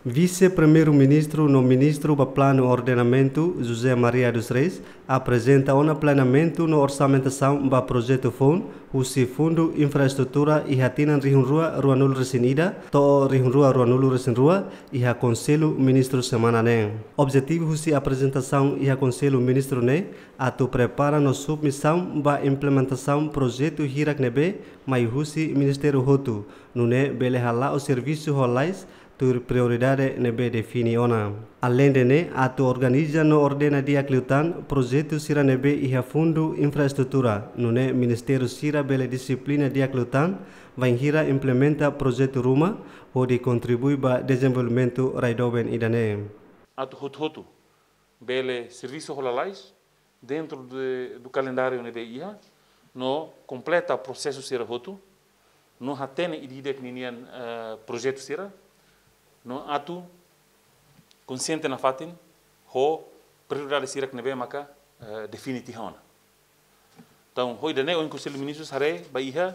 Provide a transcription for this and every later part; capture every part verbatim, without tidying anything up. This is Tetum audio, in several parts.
Vise-Primeiru-Ministru no Ministru ba Planu Ordenamentu, José Maria dos Reis, aprezenta ona planeamentu no orsamentasaun ba projetu foun husi Fundu Infraestrutura iha tinan rihun rua ruanulu resin ida to'o rihun rua ruanulu resin rua iha Konsellu Ministru semana ne'e. Objetivu husi aprezentasaun iha Konsellu Ministru ne'e atu prepara no submisaun ba implementasaun projetu hirak ne'ebé mai husi ministériu hotu, nune'e bele hala'o servisu ho lalais tuir prioridade ne'ebé define ona. Aleinde ne'e, atu organiza no ordena di'ak liután projetu sira ne'ebé iha Fundu Infraestrutura, nune'e ministériu sira bele dixiplina di'ak liután bainhira implementa projetu ruma, hodi kontribui ba dezenvolvimentu rai doben ida-ne'e. Atu hotu-hotu bele servisu ho lalais dentro de, do kalendáriu ne'ebé iha, no kompleta prosesu sira hotu, no hatene ida-idak ninian, eh, projetu sira, no atu konsiente nafatin ho prioridade sira ne'ebé maka, eh, define tiha ona. Entaun, ho ida-ne'e ohin Konsellu Ministrus haree ba iha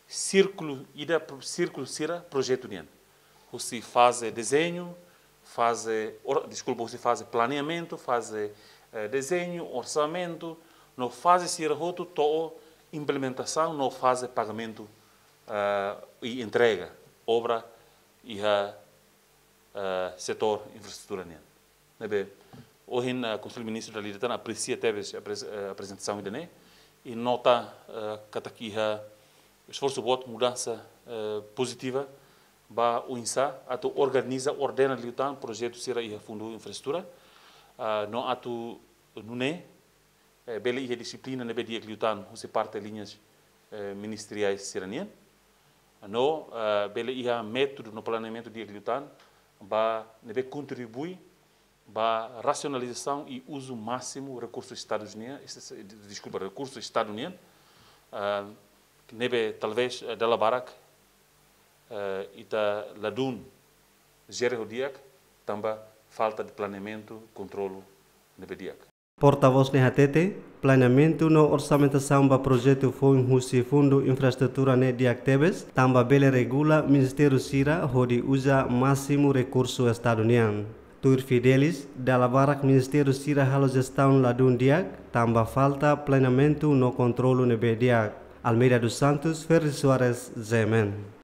sírkulu ida pro-, sírkulu sira projetu nian. Husi faze dezeñu, faze or-, deskulpa, husi faze planeamentu, faze, eh, dezeñu, orsamentu, no faze sira hotu to'o implementasaun no faze pagamentu, eh, i entrega obra iha, eh, setór infraestrutura nian. Ne'ebé ohin, eh, Konsellu Ministru dala ida tan apresia tebes apres-, eh, aprezentasaun ida-ne'e, i nota, eh, katak iha esforsu boot, mudansa, eh, pozitiva ba oinsá atu organiza, ordena liután projetu sira iha Fundu Infraestrutura, ah, no atu nune'e, eh, bele iha dixiplina ne'ebé di'ak liután husi parte liñas, eh, ministeriais sira-nian. No, eh, bele iha métodu no planeamentu di'ak liután ba ne'ebé kontribui ba rasionalizasaun i uzu másimu rekursu Estadu nian, es-, es-, deskulpa, rekursu Estadu nian, eh, ne'ebé talvés, eh, dala barak, eh, ita ladún jere ho di'ak, tanba falta de planeamentu, kontrolu ne'ebé di'ak. Portavós ne'e hatete, planeamentu no orsamentasaun ba projetu foun husi Fundu Infraestrutura ne'e di'ak tebes, tanba bele regula ministériu sira hodi uza másimu rekursu Estadu nian. Tuir Fidelis, dala barak ministériu sira halo jestaun ladún di'ak, tanba falta planeamentu no kontrolu ne'ebé di'ak. Almeida dos Santos, Ferri Soares, G M N.